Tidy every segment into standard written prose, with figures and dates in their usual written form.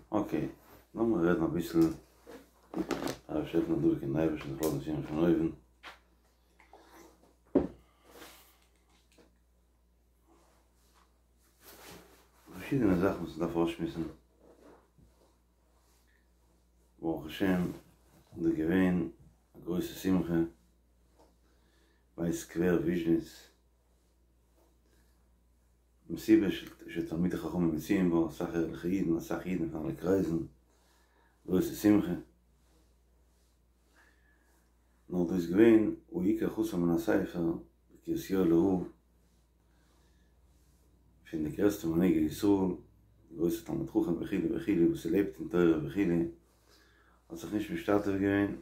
אקעי, לאמיר רעדן אביסל, אייבערשטער העלפן דבוק אין אייבערשטן זיך לאזן פירן פון אויבן. פארשידענע זאכן וואס מ'דארף אויסשמועסן. ברוך השם איז דא געווען א גרויסע שמחה ביי סקווער וויזשניץ, מסיבה שתלמידי חכמים מצויים בה, אסאך ערליכע אידן, אסאך אידן פון אלע קרייזן, גרויסע שמחה. נאר דא איז געווען העיקר חסר מן הספר, קרית יואל'ער רב, פון די גרעסטע מנהיגי ישראל, גרויסע תלמיד חכם וכו' וכו' וואס ער לעבט אין תורה וכו', האט זיך נישט משתתף געווען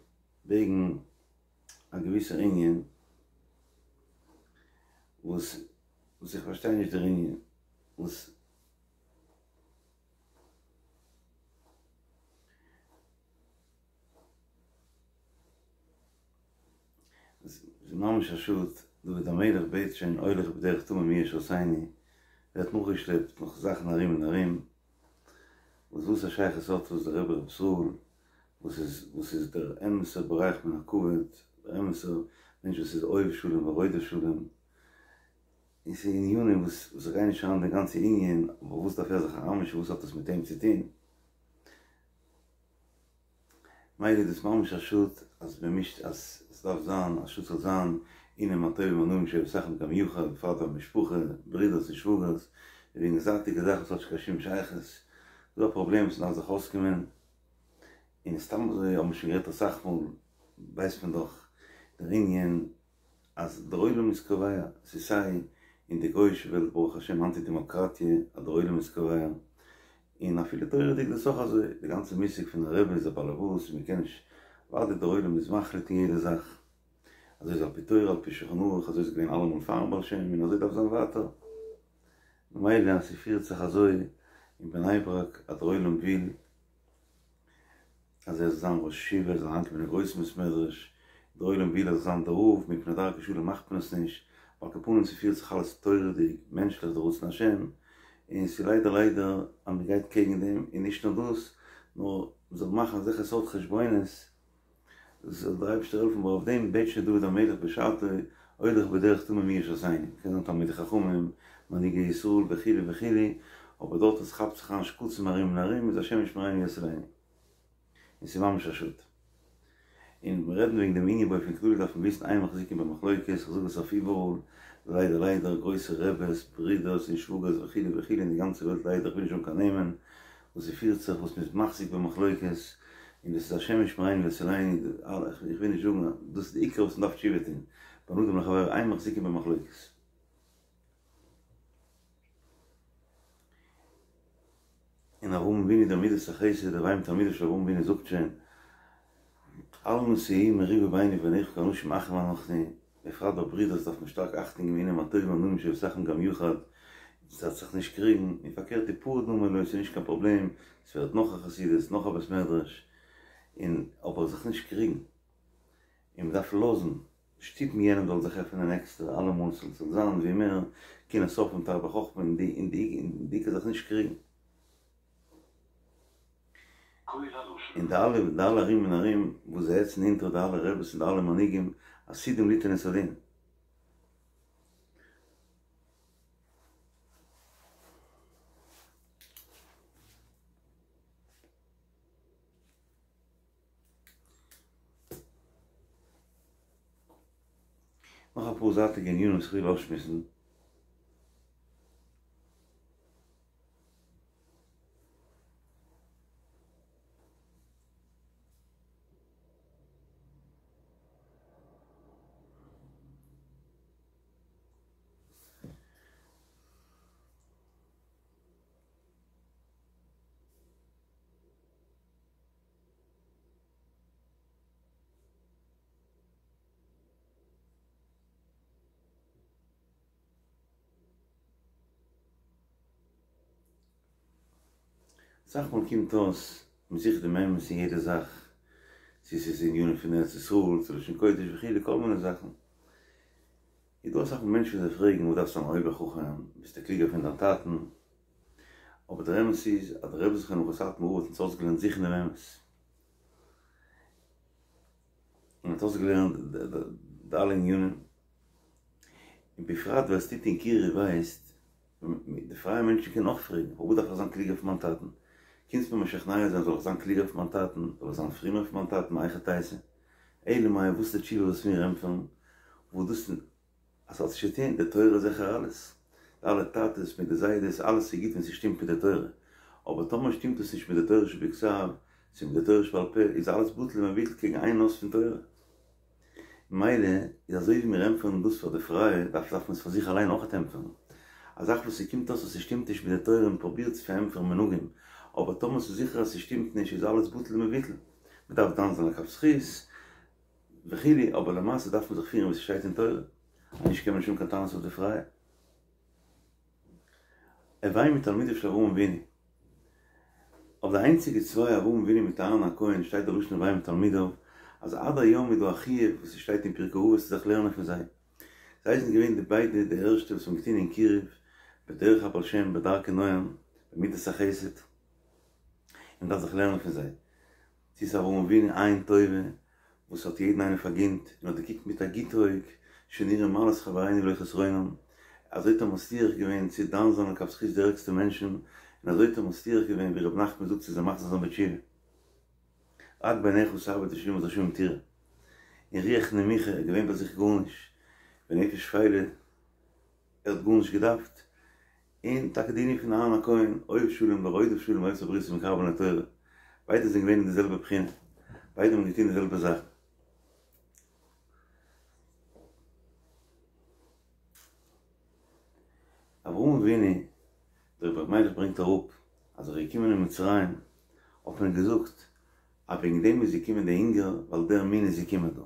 וועגן א געוויסער ענין וואס וואס איך פארשטיי נישט דער ענין וואס ס'איז ממש א שאד, דוד המלך בעט שוין הולך בדרך תמים מי ישרתני, ווערט נאכגעשלעפט נאך זאכן ארום און ארום, וואס וואס א שייכות האט דאס דער רבי ר' ישראל, וואס איז וואס איז דער אמת'ער בורח מן הכבוד, דער אמת'ער מענטש וואס איז אוהב שלום ורודף שלום, און ס'איז ענינים וואס וואס איך גיי נישט אריין אין די גאנצע ענין, אבער וואס דארף ער זיך אריינמישן וואס האט עס מיט אים צו טון? מילא איז דאס ממש א שאד אז מען מישט אז עס דארף זיין א שאד ס'זאל זיין הנה מה טוב ומה נעים שבט אחים גם יחד בפרט ביי משפחה ברידערס און שוואגערס און וועגן זייטיגע זאכן וואס האט נישט קיין שום שייכות דא א פראבלעם וואס מ'דארף זיך אויסקומען און סתם אזוי האבן מיר שוין גערעדט אסאך מאל ווייסט מען דאך דער ענין אז דער עולם איז קובע, ס'איז סיי אין די גוי'אישע וועלט ברוך השם היינט איז דעמאקראטיע אז דער עולם איז קובע, און אפילו תורה'דיג איז דאס אויך אזוי, די גאנצע מושג פון א רבי איז א באלעבאס און מ'קען נישט, אוודאי דער עולם איז מחליט אין יעדע זאך, אזוי איז על פי תורה על פי שולחן ערוך, אזוי איז געווען אלעמאל פארן בעל שם און אזוי דארף זיין ווייטער. ממילא אז ס'פירט זיך אזוי אין בני ברק אז דער עולם וויל אז ער זאל זיין ראש ישיבה, ער זאל אריינקומען אין גרויסן בית מדרש, דער עולם וויל ער זאל זיין דער רב, מפני דרכי שלום מאכט מען עס נישט, על כל פנים ס'פירט זיך אלעס תורה'דיג, מענטשליך, דער רצון השם, און ס'איז ליידער ליידער אז מ'גייט קעגן דעם, און נישט נאר דאס, נאר מ'זאל מאכן אזעלכע סארט חשבונות, זאל דער אייבערשטער העלפן, אבער אויף דעם בעט שוין דוד המלך בשעתו, הולך בדרך תמים מי ישרתני, מ'קען זיין תלמידי חכמים, מנהיגי ישראל וכו' וכו', אבער דארט וואס כאפט זיך אריין שקצים ארום און ארום איז השם ישמרינו ויצילנו. און ס'איז ממש א שאד. און מיר רעדן וועגן דעם ענין באופן כללי דארף מען וויסן אין מחזיקין במחלוקת, איך זאג עס אויף איבעראל, ליידער ליידער גרויסע רעבעס, ברידערס און שוואגערס וכו' וכו' אין די גאנצע וועלט ליידער, איך וויל נישט זאגן קיין נעמען, וואס ס'פירט זיך וואס מ'איז מחזיק במחלוקת, און דאס איז השם ישמרינו ויצילנו, איך וויל נישט זאגן, דאס איז די עיקר וואס מ'דארף תשובה טון, בין אדם לחברו אין מחזיקין במחלוקת. און אברהם אבינו דער מידת החסד דער הוו תלמידיו של אברהם אבינו זאגט שוין אל נא תהי מריבה ביני וביניך כי אנשים אחים אנחנו, בפרט ביי ברידערס דארף מען שטארק אכטונג געבן הנה מה טוב ומה נעים שבת אחים גם יחד, מ'זאל זיך נישט קריגן, און פארקערט הפרד נא מעלי ס'איז נישט קיין פראבלעם, ס'ווערט נאך א חסידות, נאך א בית מדרש, און אבער זיך נישט קריגן, און מ'דארף לאזן, שטופן יענעם זאל זיך עפענען עקסטער אלעמאל ס'זאל זיין ווי מער קנאת סופרים תרבה חכמה און די און די און די עיקר זיך נישט קריגן. און די אלע די אלע ארום און ארום וואס זיי העצן אונטער די אלע רעבעס און די אלע מנהיגים עתידים ליתן את הדין. נאך אפאר זייטיגע ענינים וואס איך וויל אויסשמועסן. אסאך מאל קומט אויס מען זוכט דעם אמת אין יעדע זאך, צו ס'איז ענינים פון ארץ ישראל, צו לשון קודש וכו' כל מיני זאכן, איז דא אסאך מאל מענטשן וואס זיי פרעגן וואס דארפסטו אן אויבער חכם, ביסטו קלוגער פון דיין טאטן? אבער דער אמת איז אז דער רבי זכרונו לברכה סאטמאר רב האט אונז אויסגעלערנט זוכן דעם אמת. און האט אויסגעלערנט די אלע ענינים. און בפרט ווער עס טוט אין קירוב ווייסט, די פרייע מענטשן קענען אויך פרעגן, פארוואס דארף איך זיין קלוגער פון מיין טאטן? קומסט מיר משכנע זיין זאל איך זיין קלוגער פון מיין טאטן? זאל איך זיין פרומער פון מיין טאטן? מהיכי תיתי? אלא מאי וואס איז די תשובה וואס מיר ענטפערן? וואס דאס אז ס'האט נישט צו טון, די תורה איז זיכער אלעס, די אלע טאטעס מיט די זיידעס, אלעס איז גוט ווען ס'שטימט מיט די תורה, אבער טאמער שטימט עס נישט מיט די תורה שבכתב, צו מיט די תורה שבעל פה, איז אלעס בטל ומבוטל קעגן איין אות פון תורה. ממילא איז אזוי ווי מיר ענטפערן דאס פאר די פרייע, דארף דארף מען עס פאר זיך אליין אויכעט ענטפערן. א זאך וואס ס'קומט אויס אז ס'שטימט נישט מיט די תורה און פרובירט צו פארענטפערן מנהגים, אבער טאמער ס'איז זיכער אז ס'שטימט נישט איז אלעס בטל ומבוטל. מ'דארף דן זיין לכף זכות וכו', אבער למעשה דארף מען זיך פירן ווי ס'שטייט אין תורה, אנישט קען מען נישט האבן קיין טענות אויף די פרייע. הוי מתלמידיו של אברהם אבינו. אויף די איינציגע צוויי אברהם אבינו מיט אהרן הכהן שטייט דער לשון הוי מתלמידיו, אז עד היום איז דא א חיוב וואס ס'שטייט אין פרקי אבות צו זיך לערנען פון זיי. זיי זענען געווען די ביידע די ערשטע וואס האבן געטון אין קירוב, בדרך הבעל שם, בדרכי נועם, במידת החסד, און מ'דארף זיך לערנען פון זיי. צו ס'איז אברהם אבינו עין טובה וואס האט יעדן איינעם פארגינט און האט געקוקט מיט א גוט אויג, שנראה מעלת חברינו ולא חסרונם, אזוי האט ער מצליח געווען צו דן זיין לכף זכות די ערגסטע מענטשן, און אזוי האט ער מצליח געווען ווי ר' נחמן זאגט צו זיי מחזיר זיין בתשובה. רק בעיניך תביט ושמות רשעים תראה. און רוח נמוכה, געווען ביי זיך גארנישט, ונפש שפלה, ער האט גארנישט געדארפט, און טאקע די ענין פון אהרן הכהן, אוהב שלום ורודף שלום אוהב את הבריות ומקרבן לתורה, ביידע זענען געווען אין די זעלבע בחינה, ביידע האבן געטון די זעלבע זאכן. אברהם אבינו, דער רבי ר' מיילעך ברענגט אראפ, אז ער איז געקומען אין מצרים, האט מען געזאגט, אז וועגן דעם איז געקומען די הונגער, ווייל דער מין איז געקומען דא.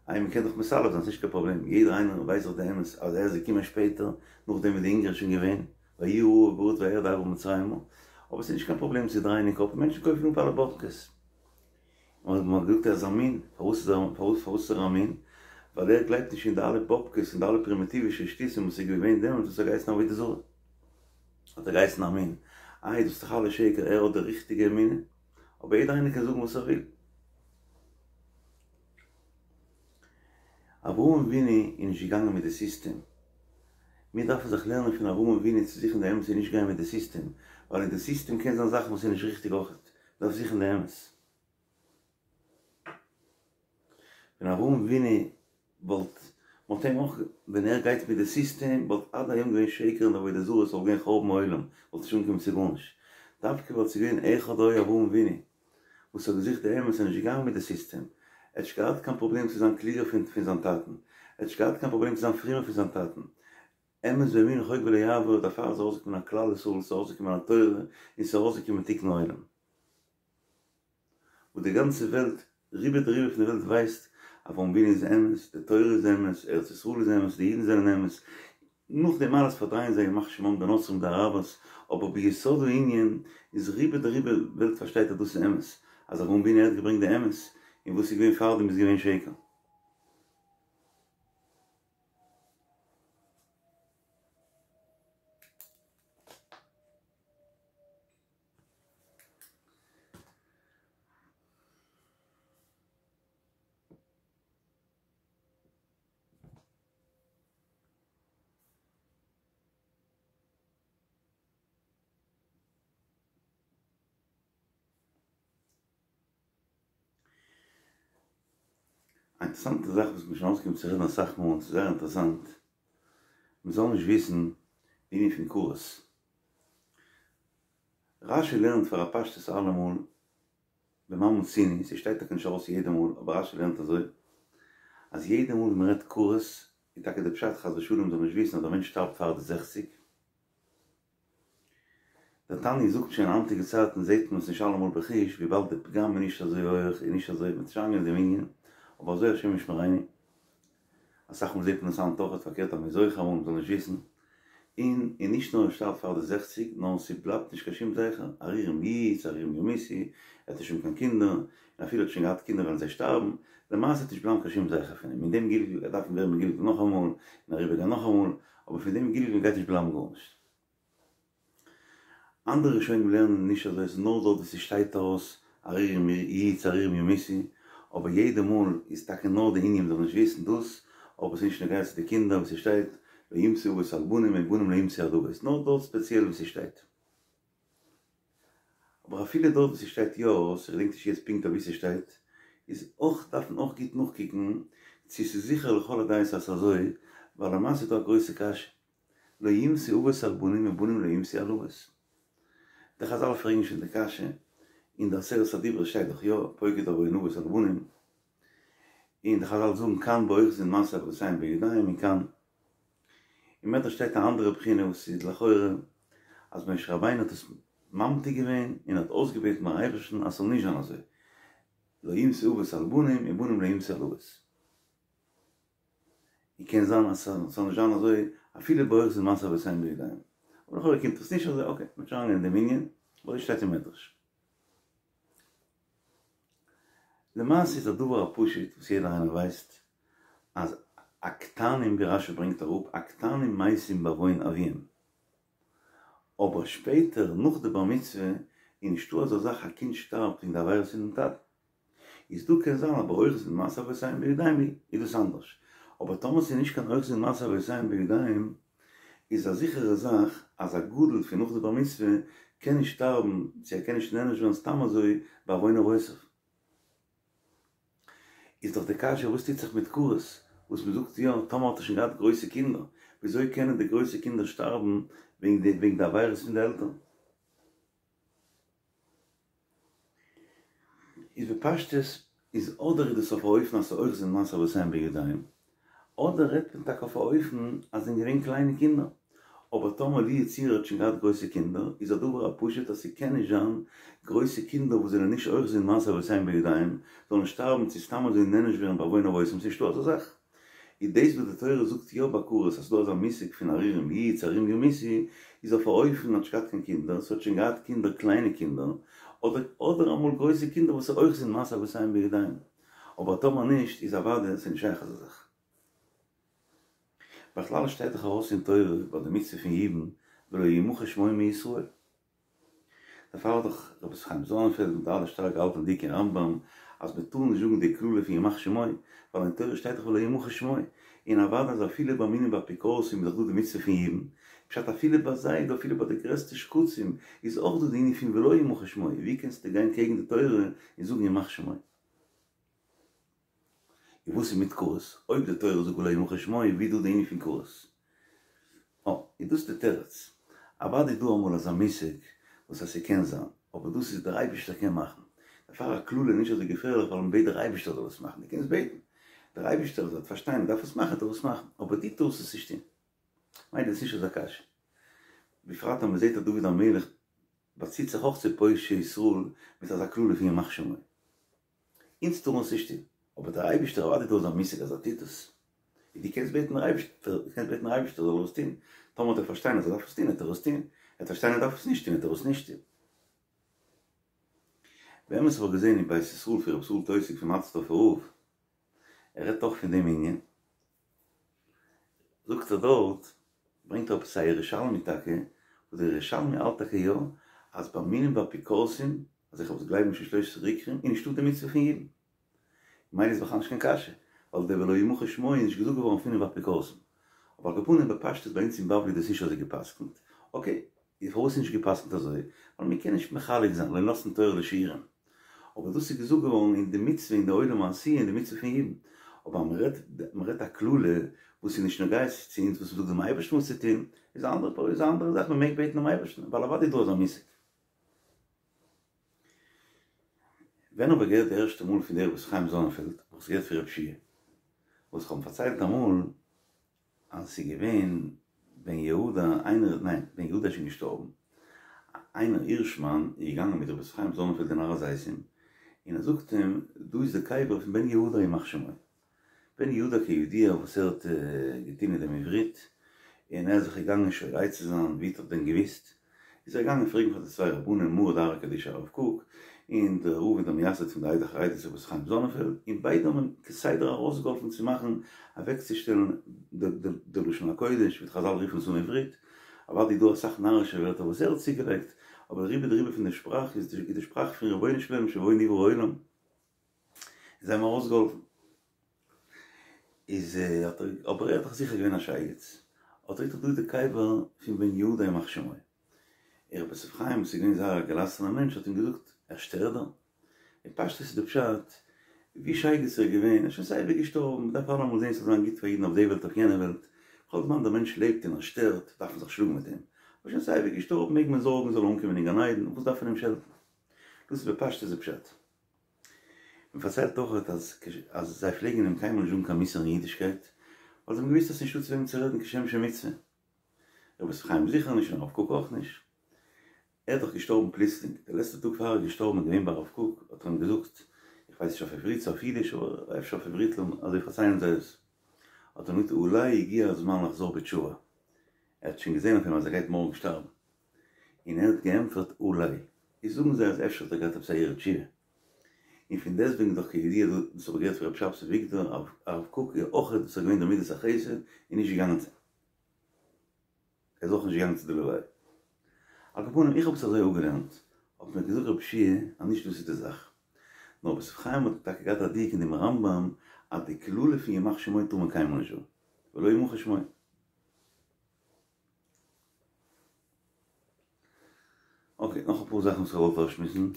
איי מ'קען דאך מסלף זיין, ס'נישט קיין פראבלעם, יעדער איינער ווייסט דאך די אמת אז ער איז געקומען שפעטער, נאכדעם ווי די הונגער איז שוין געווען, ויהי הרעב בארץ וירד אברם מצרימה, אבער ס'איז נישט קיין פראבלעם צו דרייען אין קאפ, מענטשן קויפן אפ אלע באבקעס. און מ'האט געזאגט ער איז א מין, פארוואס איז ער, פארוואס פארוואס איז ער א מין? ווייל ער גלייבט נישט אין די אלע באבקעס און די אלע פרימיטיווישע שטותים וואס איז געווען דעמאלטס וואס האט געהייסן עבודה זרה. האט ער געהייסן א מין. איי דאס איז דאך אלעס שקר, ער האט די ריכטיגע אמונה. אבער יעדער איינער קען זאגן וואס ער וויל. אברהם אבינו איז נישט געגאנגען מיט די סיסטעם. מיר דארפן זיך לערנען פון אברהם אבינו צו זוכן די אמת און נישט גיין מיט די סיסטעם, ווייל אין די סיסטעם קען זיין זאכן וואס איז נישט ריכטיג אויכעט. מ'דארף זוכן די אמת. ווען אברהם אבינו וואלט, מ'האט אים אויך, ווען ער גייט מיט די סיסטעם וואלט עד היום געווען שקר און עבודה זרה, ס'וואלט געווען חורבן העולם, וואלט נישט אנגעקומען צו גארנישט. דווקא ווייל ס'איז געווען אחד היה אברהם אבינו וואס האט געזוכט די אמת און נישט געגאנגען מיט די סיסטעם. ער האט נישט געהאט קיין פראבלעם צו זיין קלוגער פון פון זיין טאטן. ער האט נישט געהאט קיין פראבלעם צו זיין פרומער פון זיין טאטן. אמת ואמונה חוק ולא יעבור, דערפאר איז ארויסגעקומען א כלל ישראל, ס'איז ארויסגעקומען א תורה, און ס'איז ארויסגעקומען תיקון העולם. וואס די גאנצע וועלט, רובא דרובא פון די וועלט ווייסט, אברהם אבינו איז אמת, די תורה איז אמת, ארץ ישראל איז אמת, די אידן זענען אמת, נאך דעם אלעס פארדרייען זיי ימח שמם די נוצרים די אראבערס, אבער ביסוד הענין איז רובא דרובא וועלט פארשטייט אז דאס איז אמת, אז אברהם אבינו האט געברענגט די אמת, און וואס איז געווען פארדעם איז געווען שקר. א אינטערעסאנטע זאך וואס מ'איז שוין אויסגעקומען צו רעדן אסאך מאל און ס'איז זייער אינטערעסאנט, מ'זאל נישט וויסן די ענין פון כרת. רשי לערנט פאר א פשטות אלעמאל במה מצינו, ס'שטייט טאקע נישט ארויס יעדע מאל, אבער רשי לערנט אזוי, אז יעדע מאל ווען מ'רעדט כרת, איז טאקע די פשט חס ושלום מ'זאל נישט וויסן אז דער מענטש שטארבט פאר די זעכציג. דער תניא זאגט שוין היינטיגע צייטן זעט מען עס נישט אלעמאל בחוש וויבאלד די פגם איז נישט אזוי הויעך און נישט אזוי מ'טוט נישט אריינגיין אין דעם ענין, אבער אזוי השם ישמרינו. אסאך מאל זעט מען עס היינט אויכעט פארקערט אז מ'איז זוכה אמאל מ'זאל נישט וויסן, און און נישט נאר ער שטארבט פאר די זעכציג נאר ס'בלייבט נישט קיין שום זכר, ערירים יהיו ערירים ימותו, ער האט נישט שוין קיין קינדער, און אפילו ער האט שוין געהאט קינדער וועלן זיי שטארבן, למעשה וועט נישט בלייבן קיין שום זכר פון אים, אין דעם גלגול ער דארף ווערן מגולגל נאכאמאל, און אריבערגיין נאכאמאל, אבער פון דעם גלגול גייט נישט בלייבן גארנישט. אנדערע ראשונים לערנען נישט אזוי, עס איז נאר דארט וואו ס'שטייט ארויס ערירים יהיו צו ערירים ימותו, אבער יעדע מאל איז טאקע נאר די ענין מ'זאל נישט וויסן דאס, אבער ס'איז נישט נוגע צו די קינדער וואו ס'שטייט לא יומתו אבות על בנים ובנים לא יומתו על אבות, נאר דארט ספעציעל וואו ס'שטייט. אבער אפילו דארט וואו ס'שטייט יא ארויס, איך געדענק נישט יעצט פונקט אוואו ס'שטייט, איז אויך דארף מען אויך גוט נאכקוקן צו ס'איז זיכער לכל הדעות אז ס'איז אזוי, ווייל למעשה איז דא א גרויסע קשיא, לא יומתו אבות על בנים ובנים לא יומתו על אבות. די חזל פרעגן שוין די קשיא, אין די עשרת הדיברות שטייט דאך יא, פוקד עוון אבות על בנים, און די חזל זאגן כאן באוחזין מעשה אבותיהם בידיים און כאן אין מדרש שטייט א אנדערע בחינה וואס איז לכאורה אז משה רבינו האט עס ממתיק געווען און האט אויסגעבעטן ביים אייבערשטן אז ס'זאל נישט זיין אזוי, לא יומתו אבות על בנים ובנים לא יומתו על אבות. און קען זיין אז ס'זאל נישט זיין אזוי אפילו באוחזין מעשה אבותיהם בידיים. אבער לכאורה קומט עס נישט אזוי, אקעי, מ'וועט נישט אריינגיין אין דעם ענין, אבער אזוי שטייט אין מדרש. למעשה איז א דבר הפשוט וואס יעדער איינער ווייסט אז הקטנים ווי רשי ברענגט אראפ הקטנים מתים בעוון אביהם אבער שפעטער נאך די בר מצוה איז נישטא אזא זאך א קינד שטארבט וועגן די עבירות פונעם טאטן איז דא קען זיין אז באוחזין מעשה אבותיהם בידיים איז דאס אנדערש אבער טאמער ס'איז נישט קיין אוחזין מעשה אבותיהם בידיים איז א זיכערע זאך אז א גדול פון נאך די בר מצוה קען נישט שטארבן צו ער קען נישט נענש ווערן סתם אזוי בעוון אבותיו. איז דאך די קשיא וואס טוט זיך מיט כרת וואס מען זאגט יא טאמער האט ער שוין געהאט גרויסע קינדער וויאזוי קענען די גרויסע קינדער שטארבן וועגן די וועגן די עבירות פון די עלטערן? איז בפשטות איז אדער איז דאס אויף א אופן אז ס'איז אוחזין מעשה אבותיהם בידיים, אדער רעדט מען טאקע אויף א אופן אז זענען געווען קליינע קינדער, אבער טאמער לו יצוייר האט שוין געהאט גרויסע קינדער איז א דבר הפשוט אז ס'קען נישט זיין גרויסע קינדער וואס זענען נישט אוחזין מעשה אבותיהם בידיים זאלן שטארבן צו סתם אזוי נענש ווערן בעוון אבותם ס'נישטא אזא זאך. איז דאס וואס די תורה זאגט יא ביי כרת אז ס'דא אזא מושג פון ערירים יהיו צו ערירים ימותו איז אויף א אופן האט נישט געהאט קיין קינדער ס'האט שוין געהאט קינדער קליינע קינדער אדער אדער אמאל גרויסע קינדער וואס איז אוחזין מעשה אבותיהם בידיים אבער טאמער נישט איז אוודאי ס'נישט שייך אזא זאך. בכלל שטייט דאך ארויס אין תורה ביי די מצוה פון יבום ולא ימחה שמו מישראל. דערפאר האט דאך רבי חיים זאנענפעלד מיט אלע שטארק געהאלטען דיק אין רמב"ם אז מען טאר נישט זאגן די קללה פון ימח שמו, ווייל אין תורה שטייט דאך ולא ימחה שמו, און אוודאי אז אפילו ביי מינים ואפיקורסים איז דאך דא די מצוה פון יבום, פשט אפילו ביי זיי, אפילו ביי די גרעסטע שקצים, איז אויך דא די ענין פון ולא ימחה שמו, ווי קענסטו גיין קעגן די תורה און זאגן ימח שמו? און וואס איז מיט כרת? אויב די תורה זאגט ולא ימחה שמו, ווי איז דא די ענין פון כרת? אה, איז דאס די תירוץ. אוודאי איז דא אמאל אזא מושג וואס אז ס'קען זיין, אבער דאס איז דער אייבערשטער קען מאכן. דערפאר א קללה איז נישט אזוי געפערליך ווייל מ'בעט דער אייבערשטער זאל עס מאכן, דו קענסט בעטן דער אייבערשטער זאל פארשטיין מ'דארף עס מאכן, וועט ער עס מאכן, אבער דו טארסט עס נישט טון. מילא איז נישט אזא קשיא. בפרט אז מ'זעט אז דוד המלך באציט זיך אויך צו פושעי ישראל מיט אזא קללה פון ימח שמו. אונז טארן עס נישט טון, אבער דער אייבערשטער אוודאי איז דא אזא מושג אז ער טוט עס, און דו קענסט בעטן דער אייבערשטער, דו קענסט בעטן דער אייבערשטער זאל ער עס טון, טאמער וועט ער פארשטיין אז ער דארף עס טון וועט ער עס טון, ער וועט פארשטיין ער דארף עס נישט טון וועט ער עס נישט טון. באמת האב איך געזען אין בית ישראל פון רבי ישראל טויסיג פון מאטערסדארפער רב, ער רעדט אויך פון דעם ענין, זאגט ער דארט, ברענגט ער עפעס א ירושלמי טאקע, וואס דער ירושלמי האלט טאקע יא, אז ביי מינים ואפיקורסים, אזעלכע וואס גלייבן נישט אין שלושת עיקרים, איז נישטא די מצוה פון יבום. ממילא איז בכלל נישט קיין קשיא, ווייל דער ולא ימחה שמו איז נישט געזאגט געווארן אויף מינים ואפיקורסים. אבער על כל פנים בפשטות ביי אונז אין בבלי איז דאס נישט אזוי גע'פסק'נט. אקעי, איז פארוואס איז נישט גע'פסק'נט אזוי? ווייל מען קען נישט מחלק זיין, לא נתנה תורה לשיעורים. אבער דאס איז געזאגט געווארן אין די מצוה אין די עולם העשיה אין די מצוה פון יבום. אבער אז מען רעדט מען רעדט א קללה וואס איז נישט נוגע צו אונז וואס מען זאגט דעם אייבערשטן וואס צו טון, איז א אנדערע איז א אנדערע זאך מען מעג בעטן דעם אייבערשטן ווייל אוודאי איז דא אזא מושג. ווען האב איך געהערט די ערשטע מאל פון דער רבי חיים זאנענפעלד, האב איך עס געהערט פון רב שיע, וואס איך האב אים פארציילט אמאל אז עס איז געווען בן יהודה איינער, ניין, בן יהודה איז שוין געשטארבן, איינער הירשמאן איז געגאנגען מיט רבי חיים זאנענפעלד אין הר הזיתים, און ער זאגט אים, דא איז די קבר פון בן יהודה ימח שמו. בן יהודה כידוע וואס ער האט געטון מיט דעם עברית, און ער איז זיך געגאנגען שואל עצה זיין, ווי האט ער דען געוויסט? איז ער געגאנגען פרעגן פאר די צוויי רבנים מרא דארעא קדישא הרב קוק, און דער רב און דער מייסד פון די עדה החרדית רבי חיים זאנענפעלד, און ביידע האבן אים כסדר ארויסגעהאלפן צו מאכן אוועקצושטעלן די לשון הקודש, ווי די חזל רופן עס אן עברית, אוודאי איז דא אסאך נארישע ווערטער וואס ער האט צוגעלייגט, אבער רובא דרובא פון די שפראך איז די שפראך פון רבונו של עולם שבו נברא העולם, זיי האבן ארויסגעהאלפן. איז האט ער, אבער ער האט דאך זיכער געווען א שייגעץ, האט ער געזאגט דא איז די קבר פון בן יהוידע ימח שמו. ר' יוסף חיים וואס איז געווען זייער א געלאסענער מענטש האט אים געזאגט, ער שטערט דא? אין פשטות איז די פשט, ווי שייגעץ ער איז געווען, ער איז שוין סייווי געשטארבן, מען דארף אלעמאל זען ס'זאל זיין גוט פאר אידן אויף די וועלט אויף יענע וועלט, כל זמן דער מענטש לעבט און ער שטערט, דארף מען זיך שלאגן מיט אים, אבער שוין סייווי געשטארבן מעג מען זארגן זאל ער אנקומען אין גן עדן, וואס דארף מען אים שעלטן? דאס איז בפשטות די פשט. מען פארציילט אויך אז אז זיי פלעגן אים קיינמאל נישט זאגן קיין מוסר אין אידישקייט, ווייל זיי האבן געוואוסט אז ס'נישטא צו וועם צו רעדן כשם שמצוה. רבי יוסף חיים זיכער נישט און הרב קוק אויך נישט. ער איז דאך געשטארבן פלוצלינג, די לעצטע טאג פאר ער איז געשטארבן איז געווען ביי הרב קוק, האט ער אים געזאגט, איך ווייס נישט אויף עברית צו אויף אידיש, אבער אפשר אויף עברית, אזוי פארציילן זיי עס, האט ער אים געזאגט אולי הגיע הזמן לחזור בתשובה, ער האט שוין געזען אויף אים אז ער גייט מארגן שטארבן, און ער האט געענטפערט אולי, איז זאגן זיי אז אפשר האט ער געהאט עפעס א הרהור תשובה, און פון דעסטוועגן דאך כידוע דאס האב איך געהערט פון רבי שבתי וויגדער, הרב קוק איז אויך דאס איז געווען די מידת החסד און נישט געגאנגען צו. ער איז אויך נישט געגאנגען צו די לוויה. על כל פנים איך האב עס אזוי אפגעלערנט, האט מיר געזאגט רבי שיע אז נישט דאס איז די זאך. נאר רבי יוסף חיים האט טאקע געהאט א דיוק אין דעם רמב"ם אז די קללה פון ימח שמו טאר מען קיינמאל נישט זאגן, ולא ימחה שמו. אקעי, נאך אפאר זאכן וואס איך האב געוואלט אויסשמועסן.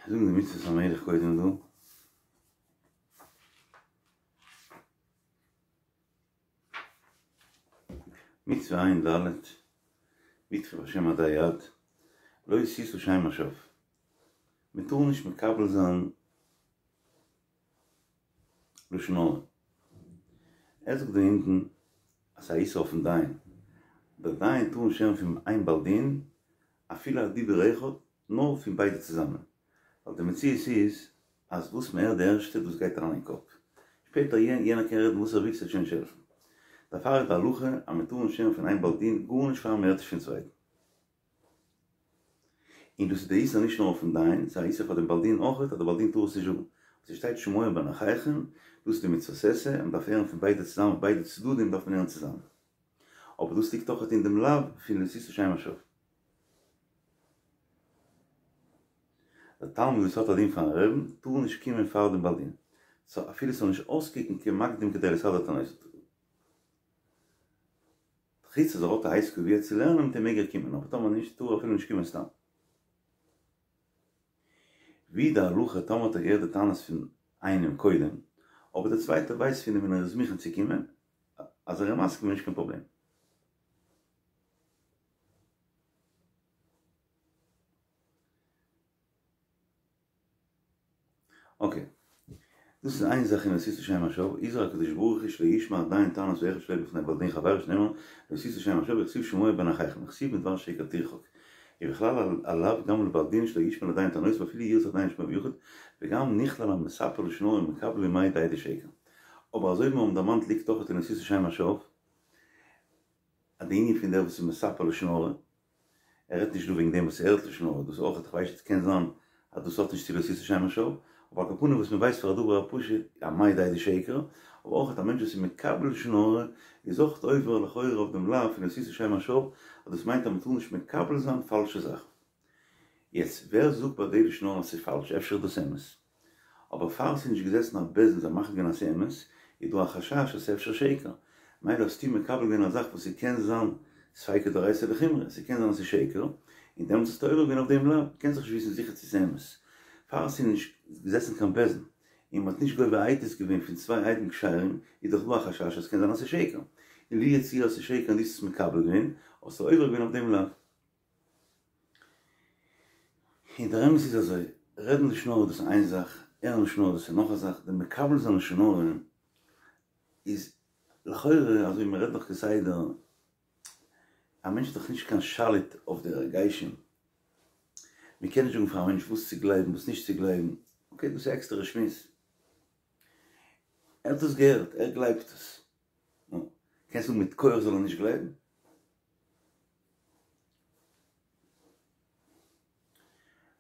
זאגן די מצוות המלך קודם דא. מצוה ע"ד, בטחו בהשם עדי עד, לא תשא שם לשווא. מען טאר נישט מקבל זיין לשון הרע. ער זאגט דא אונטן אז ס'איז א איסור אויפן דיין. דער דיין טאר נישט הערן פון איין בעל דין אפילו א דיבור אחד, נאר פון ביידע צוזאמען. ווייל די מציאות איז אז וואס מען הערט די ערשטע דאס גייט אריין אין קאפ. שפעטער יענער קען רעדן וואס ער וויל ס'וועט שוין נישט העלפן. דערפאר איז די הלכה אז מען טאר נישט הערן פון איין בעל דין גארנישט פאר מען הערט נישט פון צווייטן. און דאס איז די איסור נישט נאר אויפן דיין, ס'איז א איסור פאר דעם בעל דין אויך, אז דער בעל דין טאר עס נישט זאגן. וואס ס'שטייט שמוע בין אחיכם, דאס איז די מצוות עשה, מען דארף הערן פון ביידע צוזאמען, ביידע צדדים דארף מען הערן צוזאמען. אבער דאס ליגט אויך אין דעם לאו פון לא תשא שם לשווא. דער תלמיד וואס האט א דין פארן רעבן, טאר נישט קומען פאר דעם בעל דין, סא אפילו ס'זאל נישט אויסקוקן כמקדים כדי לסדר טענותיו. חוץ אז ער האט א עת קבוע צו לערנען מיט אים מעג ער קומען, אבער טאמער נישט טאר ער אפילו נישט קומען סתם. ווי די הלכה טאמער האט ער געהערט די טענות פון איינעם קודם, אבער דער צווייטער ווייסט פון אים און ער איז מוכן צו קומען, אז ער איז מסכים איז נישט קיין פראבלעם. אקעי. דאס איז איין זאך אין לא תשא שם לשווא, הזהיר הקדוש ברוך הוא שלא ישמע הדיין טענת האחד שלא בפני בעל דין חבירו שנאמר לא תשא שם לשווא וכתיב שמוע בין אחיכם וכתיב מדבר שקר תרחק ובכלל הלאו גם לבעל דין שלא ישמע לדיין טענותיו אפילו ירצה הדיין לשמוע ביחיד וגם נכלל המספר לשון הרע ומקבל ומעיד עדי שקר אבער אזוי ווי מיר האבן דערמאנט ליגט אויך אין לא תשא שם לשווא אז די ענין פון דער וואס איז מספר לשון הרע ער רעדט נישט דא וועגן דעם וואס ער הערט לשון הרע, דאס אויך, כ'ווייס נישט, קען זיין אז דאס האט נישט צו לא תשא שם לשווא, אבער על כל פנים וואס מ'ווייסט פאר א דבר הפשוט, א מעיד עדי שקר, אבער אויך א מענטש וואס איז מקבל לשון הרע, איז אויך עובר לכאורה אויף דעם לאו פון לא תשא שם לשווא, אז דאס מיינט אז מ'טאר נישט מקבל זיין פאלשע זאכן. יעצט, ווער זאגט ביי די לשון הרע אז ס'איז פאלש? אפשר איז דאס אמת? אבער פאר ס'איז נישט געזעסן א בית דין זיי מחליט געווען אז ס'איז אמת, איז דא א חשש אז ס'איז אפשר שקר. מילא האסטו מקבל געווען א זאך וואס ס'קען זיין ספיקא דאורייתא לחומרא, ס'קען זיין אז ס'איז שקר, און דעמאלטס האסטו עובר געווען אויף דעם לאו, קענסט דאך נישט וויסן זיכער צו ס'איז אמת. פאר ס'איז נישט געזעסן קיין בית דין, און מ'האט נישט גובה עדות געווען פון צוויי עדים כשרים, איז דאך דא א חשש אז ס'קען זיין אז ס'איז שקר. און לו יצוייר אז ס'איז שקר און דו האסט עס מקבל געווען, האסטו עובר געווען אויף דעם לאו. און דער אמת איז אזוי, רעדן לשון הרע דאס איז איין זאך, הערן לשון הרע דאס איז נאך א זאך, די מקבל זיין לשון הרע איז. לכאורה אזוי מען רעדט דאך כסדר, א מענטש איז דאך נישט קיין שליט אויף די הרגשים, מען קען נישט זאגן פאר א מענטש וואס צו גלייבן וואס נישט צו גלייבן, אקעי דאס איז א עקסטערע שמועס, ער האט עס געהערט, ער גלייבט עס, נו, קענסט זאגן מיט כח זאל ער נישט גלייבן?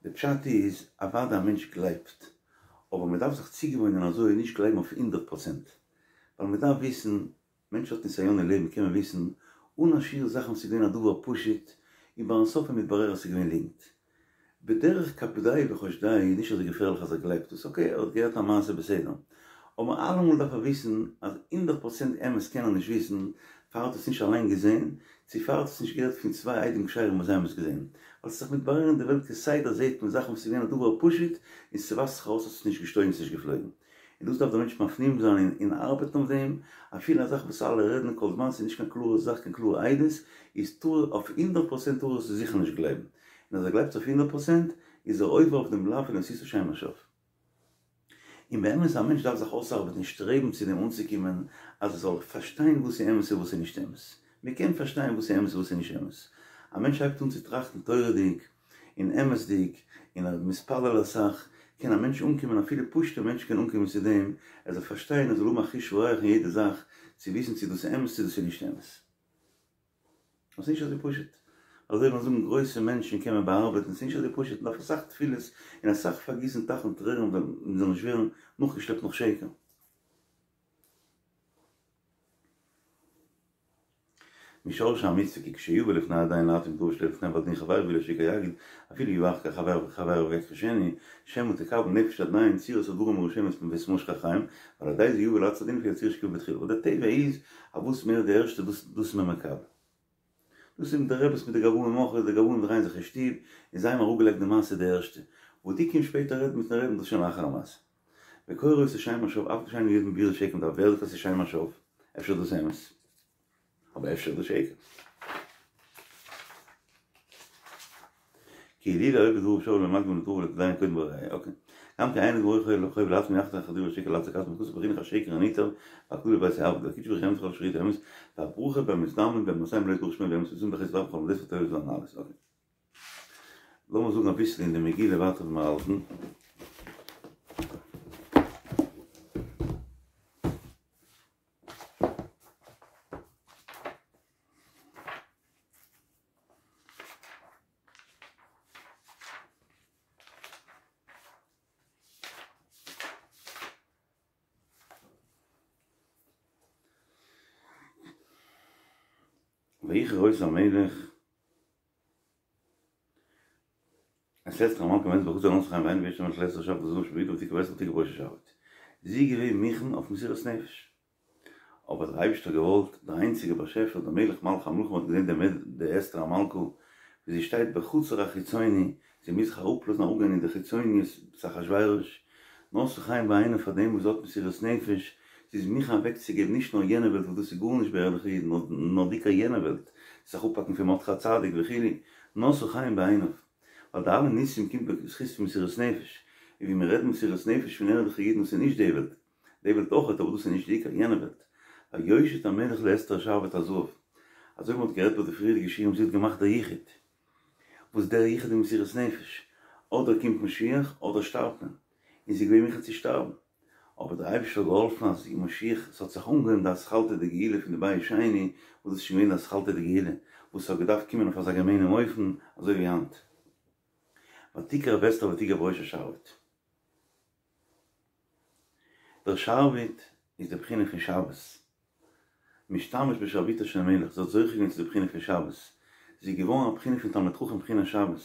די פשט איז, אוודאי א מענטש גלייבט, אבער מען דארף זיך צוגעוואוינען אזוי נישט גלייבן אויף הונדערט פראצענט, ווייל מען דארף וויסן, מענטש האט נסיון אין לעבן קען מען וויסן אן א שיעור זאכן וואס איז געווען א דבר פשוט און ביים סוף איז מתברר אז ס'איז געווען ליגנט. בדרך כפדאי וחושדאי איז נישט אזוי געפערליך אז ער גלייבט עס, אקעי ער האט געהערט א מעשה בסדר, אבער אלעמאל דארף ער וויסן אז הונדערט פראצענט אמת קען ער נישט וויסן פאר ער האט עס נישט אליין געזען, צו פאר ער האט עס נישט געהערט פון צוויי עדים כשרים וואס זיי האבן עס געזען. ווייל ס'איז זיך מתברר אין די וועלט כסדר זעט מען זאכן וואס איז געווען א דבר פשוט און ס'ווייזט זיך ארויס אז ס'איז נישט געשטויגן ס'איז נישט געפלויגן. און דאס דארף דער מענטש מפנים זיין און ארבעטן אויף דעם, אפילו א זאך וואס אלע רעדן כל זמן ס'איז נישט קיין קלארע זאך קיין קלארע עדות, איז טאר אויף הונדערט פראצענט טאר ער עס זיכער נישט גלייבן, און אז ער גלייבט אויף הונדערט פראצענט איז ער עובר אויף דעם לאו פון לא תשא שם לשווא. און באמת א מענטש דארף זיך אויסארבעטן און שטרעבן צו דעם אנצוקומען אז ער זאל פארשטיין וואס איז אמת און וואס איז נישט אמת. מען קען פארשטיין וואס איז אמת און וואס איז נישט אמת. א מענטש הייבט אן צו טראכטן תורה'דיג, און אמת'דיג, און ער איז מתפלל אסאך, קען א מענטש אנקומען, אפילו פשוט'ע מענטש קען אנקומען צו דעם, ער זאל פארשטיין, ער זאל האבן א חוש הריח אין יעדע זאך, צו וויסן צו דאס איז אמת צו דאס איז נישט אמת. עס איז נישט אזוי פשוט. אזוי ווי מיר זאגן גרויסע מענטשן קען מען באארבעטן, עס איז נישט אזוי פשוט, מען דארף אסאך תפילות און אסאך פארגיסן טייכן טרערן מען זאל נישט ווערן נאכגעשלעפט נאך שקר. משורש המצוה כי כשיבא לפני הדיין להתיר מדבר שלא לפני בעל דין חבירו ואילו שיקר יגיד אפילו יבא אחר כך חבירו חבירו ויכחישנו שמא תקבל נפש הדיין צורת הדברים הראשונות ואת משכם ועל ידי זה יבא לעצת הדין לפי הצורה שקיבל בתחילה ווייל די טבע איז אז וואס מער די ערשטע דאס דאס איז מען מקבל. דאס איז מיט די רעבעס מיט די גבאים אויך די גבאים דרייען זיך אין שטוב און זיי האבן אראפגעלייגט די מעשה די ערשטע וואס דו קומסט שפעטער רעדן מיטן רעבן דאס איז שוין לאחר המעשה. וקורא אותו שם השוא אף על פי שאינו יודע בבירור שקר מדבריו ווער זאגט אז ס'איז שם השוא? אפשר איז דאס אמת? אבער אפשר איז דאס שקר. כי אילולא היה דבריו שוא לא מקדים לדבריו לדיין קודם בראיה, אקעי. גם כי אין דברו חייב לעצמו יחתוך אחר דברי שקר לעצמו כעצמו כתוב בחינוך השקר הנטעף והכלול בבית העבד והקודשא בריך הוא אמת וכל אשר ידעו אמת והברכה במזדמן במעשיהם לא יתברך שמו באמת ושם בחסד ורב בכל מידות וטובות והנעלות, אקעי. לאמיר זאגן אביסל אין די מגילה ווייטער ווי מיר האלטן. ויכר אותו המלך את אסתר המלכה והעמידה בחצר ונשאה חן בעיניו וישת המלך לאסתר השרביט הזהב אשר בידה ותקח באסתר ותגע בראש השרביט. זי איז געווען מוכן אויף מסירות נפש. אבער דער אייבערשטער האט געוואלט, דער איינציגער באשעפער, דער מלך מלכי המלכים האט געזען דעם די אסתר המלכה ווי זי שטייט בחצר החיצוני, זי מוז זיך אראפלאזן אראפגיין אין די חיצוניות צו אחשורוש, נשא חן בעיניו פאר דעם וואס זי האט מסירות נפש, זי איז מוכן אוועקצוגעבן נישט נאר יענע וועלט וואס דאס איז גארנישט ביי ערליכע אידן, נאר דיקא יענע וועלט, זיך אפהאקן פון מרדכי הצדיק וכו', נשא חן בעיניו. ווייל די אלע ניסים קומט בזכות פון מסירות נפש, און ווי מען רעדט מסירות נפש פון ערליכע אידן וואס איז נישט די וועלט, די וועלט אויכעט אבער דאס איז נישט די עיקר, יענע וועלט. ויושט המלך לאסתר שרביט הזהב. אזוי ווי מען האט גערעדט ביי די פריערדיגע שיעורים זי האט געמאכט דער יחוד. וואס דער יחוד איז מסירות נפש. אדער קומט משיח אדער שטארבט מען. און זי איז געווען מוכן צו שטארבן. אבער דער אייבערשטער האט געהאלפן אז משיח, ס'האט זיך אנגעהויבן די אתחלתא דגאולה פון די בית שני, וואס דאס איז שוין געווען די אתחלתא דגאולה, וואס ס'האט געדארפט קומען אויף אזא געמיינעם אופן אזוי ווי היינט. ותקרב אסתר ותגע בראש השרביט. דער שרביט איז די בחינה פון שבת. משתמש בשרביטו של מלך, זי האט זוכה געווען צו די בחינה פון שבת. זי איז געווארן א בחינה פון תלמיד חכם בחינת שבת.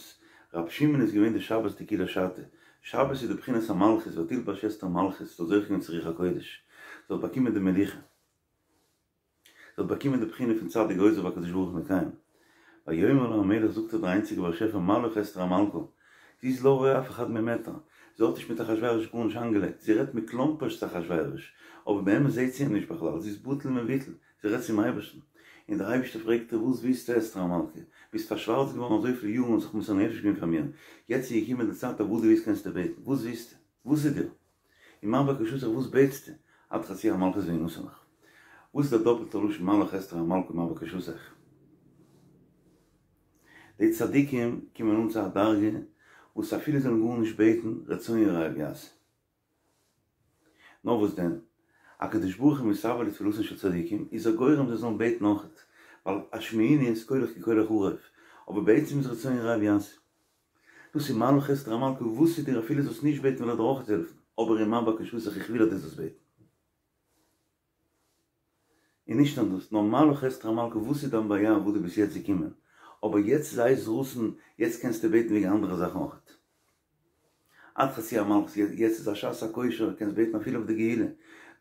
רבי שמעון איז געווען די שבת דכולא שתא. שבת איז די בחינת המלכות, ותלבש אסתר מלכות, זי האט זוכה געווען צו רוח הקודש. זי האט באקומען די מלוכה. זי האט באקומען די בחינה פון צדיק גוזר והקדוש ברוך הוא מקיים. ויאמר לה המלך זאגט איר דער איינציגער באשעפער מה לך אסתר המלכה, זי איז לא רואה אף אחד ממטר, זי האט נישט מיט אחשורוש גארנישט איינגעלייגט, זי רעדט מכלומפערשט צו אחשורוש, אבער באמת זעהט זי אים נישט בכלל, זי איז בטל ומבוטל, זי רעדט צום אייבערשטן. און דער אייבערשטער פרעגט איר וואס ווילסטו אסתר המלכה, ביסט פארשווארצט געווארן אזויפיל יארן און זיך מוסר נפש געווען פאר מיר, יעצט איז געקומען די צייט אויף וואס דו ווילסט קענסטו בעטן, וואס ווילסטו? וואס איז דיר? ומה בקשתך וואס בעטסטו? עד חצי המלכות וינתן לך. וואס איז דער דאפלטער לשון מה לך אסתר המלכה מה בקשתך? די צדיקים קומען אן צו א דרגה וואס אפילו זיי זאלן גארנישט בעטן, רצון יראיו יעשה. נאר וואס דען, הקדוש ברוך הוא מתאוה לתפילתן של צדיקים, איז ער גורם זיי זאלן בעטן אויכעט, ווייל השמיעיני את קולך כי קולך ערב, אבער בעצם איז רצון יראיו יעשה. דאס איז מה לך אסתר המלכה, וואס איז דיר אפילו זאלסט נישט בעטן וועל איך דיר אויכעט העלפן, אבער ומה בקשתך איך וויל אז דו זאלסט בעטן. און נישט נאר דאס, נאר מה לך אסתר המלכה וואס איז דיין בעיה וואס דו ביסט יעצט געקומען, אבער יעצט איז עת רצון, יעצט קענסטו בעטן וועגן אנדערע זאכן אויכעט. עד חצי המלכות, יעצט איז א שעת הכושר, קענסט בעטן אפילו אויף די גאולה,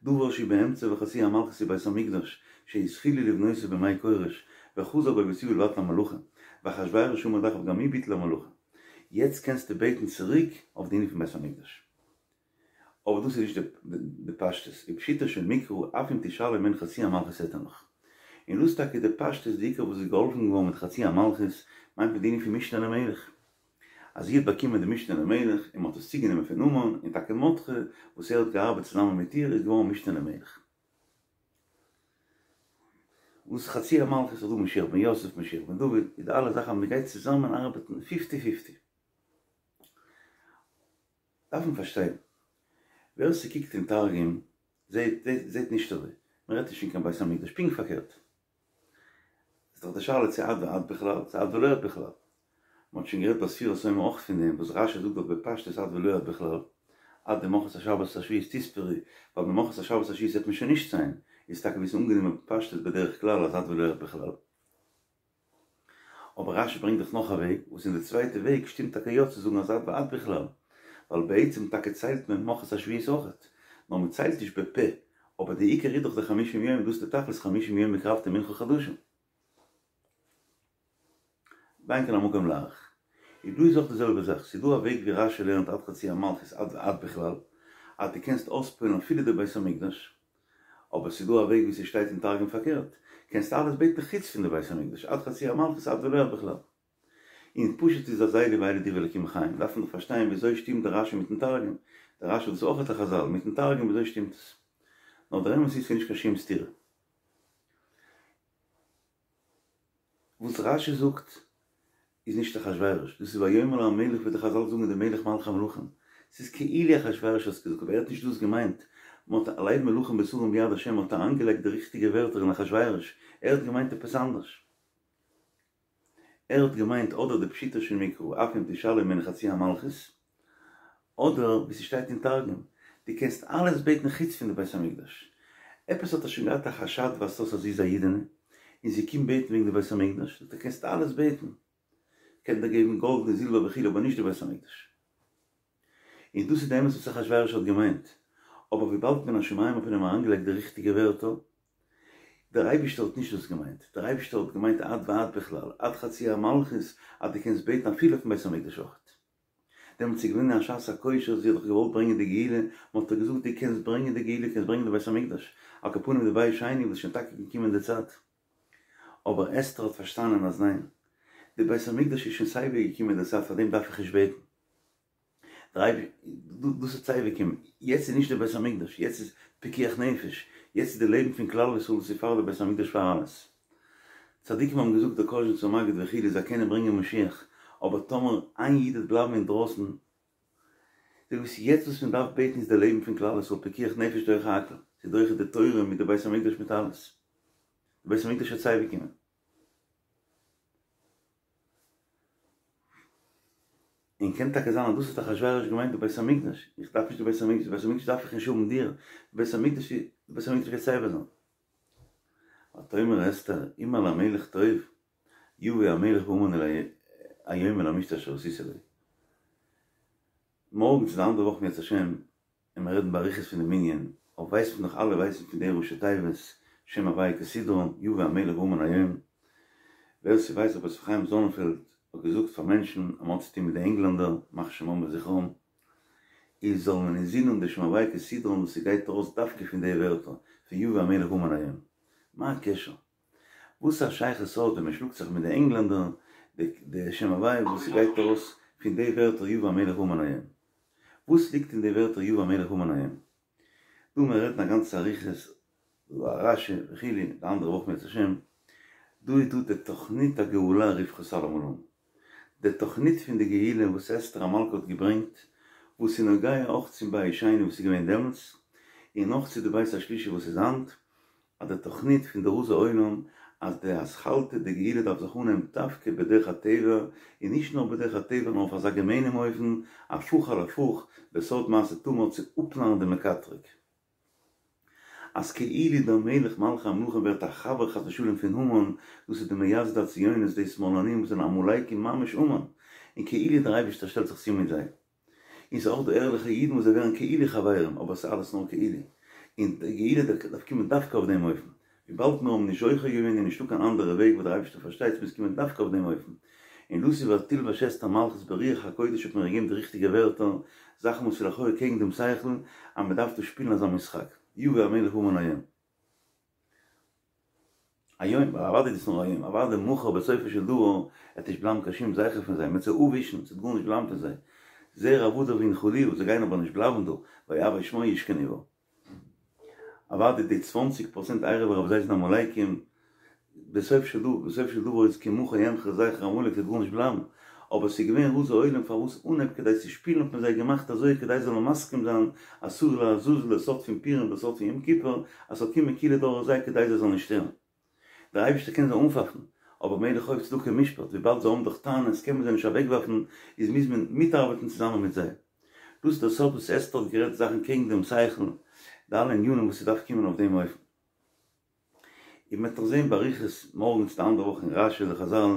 דבר שהוא באמצע וחצי המלכות הוא בית המקדש, שהתחילו לבנותו בימי כורש, וחזר בו וציוה לבטל המלאכה, ואחשורוש עמד אחריו גם הוא ביטל המלאכה. יעצט קענסטו בעטן צוריק אויף די ענין פון בית המקדש. אבער דאס איז נישט די פשטות, ופשוטו של מקרא אף אם תשאלי ממני חצי המלכות אתן לך. און דאס איז טאקע די פשטות די עיקר וואס איז געהאלפן געווארן מיט חצי המלכות מיינט מען די ענין פון משנה למלך. אז זי האט באקומען די משנה למלך און מען האט עס צוגענומען פון המן און טאקע מרדכי וואס ער האט געארבעט צוזאמען מיט איר איז געווארן משנה למלך. וואס חצי המלכות איז דא משיח בן יוסף משיח בן דוד איז די אלע זאכן אז מען גייט צוזאמען ארבעטן פיפטי פיפטי. דארף מען פארשטיין, ווער ס'קוקט אין תרגום זעהט זעהט נישט אזוי, מ'רעדט נישט פון קיין בית המקדש, פונקט פארקערט. איז דאך די שאלה צו עד ועד בכלל, צו עד ולא עד בכלל. מ'האט שוין גערעדט ביי ספירת העומר אויך פון דעם, וואס רש"י זאגט דאך בפשטות עד ולא עד בכלל, עד דמחרת השבת השביעית תספרו, ווייל ממחרת השבת השביעית וועט מען שוין נישט ציילן, איז טאקע ווי ס'איז אנגענומען בפשטות בדרך כלל אז עד ולא עד בכלל. אבער רש"י ברענגט דאך נאך א וועג, וואס אין די צווייטע וועג שטימט טאקע יא צו זאגן אז עד ועד בכלל, ווייל בעצם טאקע ציילט מען ממחרת השביעית אויכעט, נאר מען ציילט נישט בפה, אבער די עיקר איז דאך די חמישים יום, דאס איז די תכלית חמישים יום הקרבתם מנחה חדשים. ואין כאן המקום להאריך. איז דא איז אויך די זעלבע זאך, ס'איז דא א וועג ווי רש"י לערנט עד חצי המלכות עד ועד בכלל, אז דו קענסט אויספועלן אפילו די בית המקדש, אבער ס'איז דא א וועג ווי ס'שטייט אין תרגום פארקערט, קענסט אלעס בעטן חוץ פון די בית המקדש, עד חצי המלכות עד ולא עד בכלל. און פשוט איז אז אלו ואלו דברי אלקים חיים, דארף מען דאך פארשטיין וויאזוי שטימט די רש"י מיטן תרגום, די רש"י איז אויך א חז"ל, מיטן תרגום וויאזוי שטימט עס? נאר דער אמת איז ס'איז נישט קיין שום סתירה. וואס רש"י זאגט איז נישט אחשורוש, דאס איז ויאמר אל המלך ווי די חז"ל זאגן די מלך מלכי המלכים, ס'איז כאילו אחשורוש האט עס געזאגט אבער ער האט נישט דאס געמיינט, מען האט לב מלכים ושרים ביד השם מען האט אריינגעלייגט די ריכטיגע ווערטער אין אחשורוש, ער האט געמיינט עפעס אנדערש. ער האט געמיינט אדער די פשוטו של מקרא אף אם תשאלי ממני חצי המלכות, אדער ווי ס'שטייט אין תרגום, דו קענסט אלעס בעטן חוץ פון די בית המקדש. עפעס האט ער שוין געהאט א חשד ווייזט אויס אז זי איז א אידענע, און זי קומט בעטן וועגן די בית המקדש, זאגט ער קענסט אלעס בעטן, כ'קען דיר געבן גאלד און זילבער וכו' אבער נישט די בית המקדש. און דאס איז די אמת וואס אחשורוש האט געמיינט, אבער וויבאלד מן השמים האט מען אים אריינגעלייגט די ריכטיגע ווערטער, דער אייבישטער האט נישט דאס געמיינט, דער אייבישטער האט געמיינט עד ועד בכלל, עד חצי המלכות, אז דו קענסט בעטן אפילו אויפן בית המקדש אויכעט. דעמאלטס איז געווען א שעת הכושר, זי האט דאך געוואלט ברענגען די גאולה, מען האט איר געזאגט דו קענסט ברענגען די גאולה, קענסט ברענגען די בית המקדש, על כל פנים די בית שני וואס איז שוין טאקע געקומען די צייט. אבער אסתר האט פארשטאנען אז ניין, די בית המקדש איז שוין סייווי געקומען די צייט פאר דעם דארף איך נישט בעטן. דאס וועט סייווי קומען, יעצט איז נישט די בית המקדש, יעצט איז פיקוח נפש, יעצט איז די לעבן פון כלל ישראל דאס איז פאר די בית המקדש פאר אלעס. צדיקים האבן געזאגט דער קאזשניצער מגיד וכו' זיי קענען ברענגען משיח, אבער טאמער איין איד וועט בלייבן אינדרויסן, די וואס יעצט וואס מען דארף בעטן איז די לעבן פון כלל ישראל, פיקוח נפש דוחה הכל, ס'איז דוחה די תורה מיט די בית המקדש מיט אלעס, די בית המקדש וועט סייווי קומען. און קען טאקע זיין אז דאס האט אחשורוש געמיינט די בית המקדש, איך דארף נישט די בית המקדש, די בית המקדש דארף איך נישט האבן דיר, די בית המקדש די בית המקדש גייט סייווי זיין. ותאמר אסתר אם על המלך טוב, יבוא המלך והמן אלי היום אל המשתה אשר עשיתי לו. מארגן צו די אנדערע וואך אם ירצה השם און מיר רעדן באריכות פון דעם ענין, אבער ווייסט מען דאך אלע ווייסן פון די ראשי תיבות, שם הוויה כסדרן, יבא המלך והמן היום. ווער ס'ווייסט רבי יוסף חיים זאנענפעלד האט געזאגט פאר מענטשן אז מ'האט צוטון מיט די ענגלענדער, ימח שמם וזכרם, איז זאל מען אינזין האבן די שם הוויה כסדרן וואס ס'גייט ארויס דווקא פון די ווערטער פון יבא המלך והמן היום. מה הקשר? וואס א שייכות האט ווען מ'שלאגט זיך מיט די ענגלענדער די שם הוויה וואס ס'גייט ארויס פון די ווערטער יבא המלך והמן היום? וואס ליגט אין די ווערטער יבא המלך והמן היום? דא מען רעדן א גאנצע אריכות. דא א רשי וכו', די אנדערע וואך אם ירצה השם, דא איז דא די תוכנית הגאולה רופט חזל אמאל אן, די תוכנית פון די גאולה וואס אסתר המלכה האט געברענגט, וואס איז נוגע אויך צום בית שני וואס איז געווען דעמאלטס, און אויך צו די בית השלישי וואס איז היינט, אז די תוכנית פון די רזי עולם אז די אתחלתא דגאולה דארף זיך אנהייבן דווקא בדרך הטבע, און נישט נאר בדרך הטבע נאר אויף אזא געמיינעם אופן, הפוך על הפוך, בסוד מעשה תמר צו אפנארן דעם מקטרג. אז כאילו דער מלך מלכי המלכים ווערט א חבר חס ושלום פון המן, דאס איז די מייסדי הציונות די שמאלנים וואס זענען עמלקים ממש המן, און כאילו דער אייבערשטער שטעלט זיך צו מיט זיי. און ס'איז אויך דא ערליכע אידן וואס זיי ווערן כאילו חברים, אבער ס'איז אלעס נאר כאילו. און די גאולה דארף קומען דווקא אויף דעם אופן. וויבאלד מיר האבן נישט זוכה געווען איז נישטא קיין אנדערע וועג וואס דער אייבערשטער פארשטייט ס'מוז קומען דווקא אויף דעם אופן. און דאס איז ותלבש אסתר מלכות ברוח הקודש האט מען איר געגעבן די ריכטיגע ווערטער, זאכן וואס איז לכאורה קעגן דעם שכל, אז מ'דארף דא שפילן אזא משחק. יבא המלך והמן היום. היום, ווייל אוודאי איז דאס נאר היום, אוודאי מחר בסופו של דבר וועט נישט בלייבן קיין שום זכר פון זיי, מ'וועט זיי אפווישן, ס'וועט גארנישט בלייבן פון זיי. זרע עבדיו ינחלוה, זיי גייען אבער נישט בלייבן דא, ואוהבי שמו ישכנו בה. אוודאי די צוואנציג פראצענט ערב רב זיי זענען עמלקים, בסוף של דבר, בסוף של דבר איז כי מחה אמחה זכר עמלק ס'וועט גארנישט בלייבן, אבער ס'איז געווען רזי עולם פארוואס אנהייב כדי צו שפילן האט מען זיי געמאכט אזוי כדי זיי זאלן מסכים זיין אז שעיר לעזאזל די סוד פון פורים די סוד פון יום כיפור אז ס'זאל קומען כאילו דורך זיי כדי זיי זאלן נישט שטערן. דער אייבערשטער קען זיי אנפייפן, אבער מלך אוהב צדקה ומשפט, וויבאלד זיי האבן דאך טענות קען מען זיי נישט אוועקווארפן, איז מוז מען מיטארבעטן צוזאמען מיט זיי. דאס איז דער סוד וואס אסתר האט גערעדט זאכן קעגן דעם שכל, די אלע ענינים וואס ס'דארף קומען אויף דעם אופן. און מ'וועט נאך זען באריכות מארגן צו די אנדערע וואך אין רשי וחזל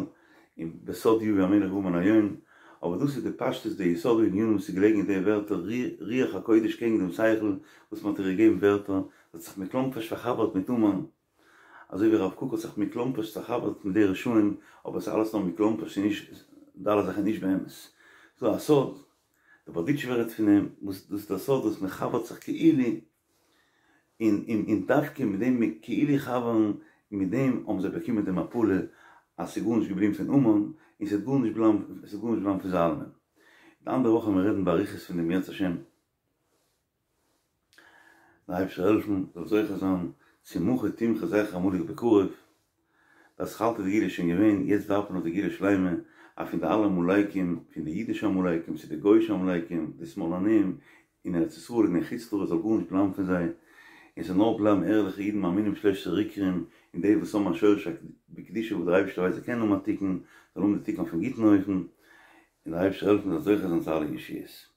און בסוד יבא המלך והמן היום, אבער דאס איז די פשטות די יסוד הענינים וואס איז געלעגן אין די ווערטער רוח הקודש קעגן דעם שכל וואס מ'האט איר געגעבן ווערטער, זי האט זיך מכלומפערשט פארחבר'ט מיט המן, אזוי ווי הרב קוק האט זיך מכלומפערשט פארחבר'ט מיט די רשעים, אבער עס איז אלעס נאר מכלומפערשט און נישט די אלע זאכן נישט באמת. ס'דא א סוד, דער בארדיטשובער רעדט פון דעם, וואס דאס איז דער סוד וואס מ'חבר'ט זיך כאילו, און און און דווקא מיט דעם כאילו חבר'ן, מיט דעם האבן זיי באקומען די מפלה אז ס'איז גארנישט געבליבן פון המן, און ס'וועט גארנישט בלייבן, ס'וועט גארנישט בלייבן פון זיי אלעמען. די אנדערע וואך וועלן מיר רעדן באריכות פון דעם אם ירצה השם. דער אייבערשטער העלפן זאל זוכה זיין צו מחה תמחה זכר עמלק בקרוב, די אתחלתא דגאולה איז שוין געווען, יעצט דארף מען נאך די גאולה שלימה, אז פון די אלע עמלקים, פון די אידישע עמלקים צו די גויאישע עמלקים, די שמאלנים, אין ארץ ישראל און אין חוץ לארץ זאל גארנישט בלייבן פון זיי, און ס'זאל נאר בלייבן ערליכע אידן מאמינים בשלושת עיקרים, און די וואס האבן א שורש בקדושה וואס דער אייבערשטער ווייסט זיי קענען האבן א תיקון, זאלן האבן די תיקון אויפן גוטן אופן, און דער אייבערשטער העלפן מ'זאל זוכה זיין צו אלע ישועות.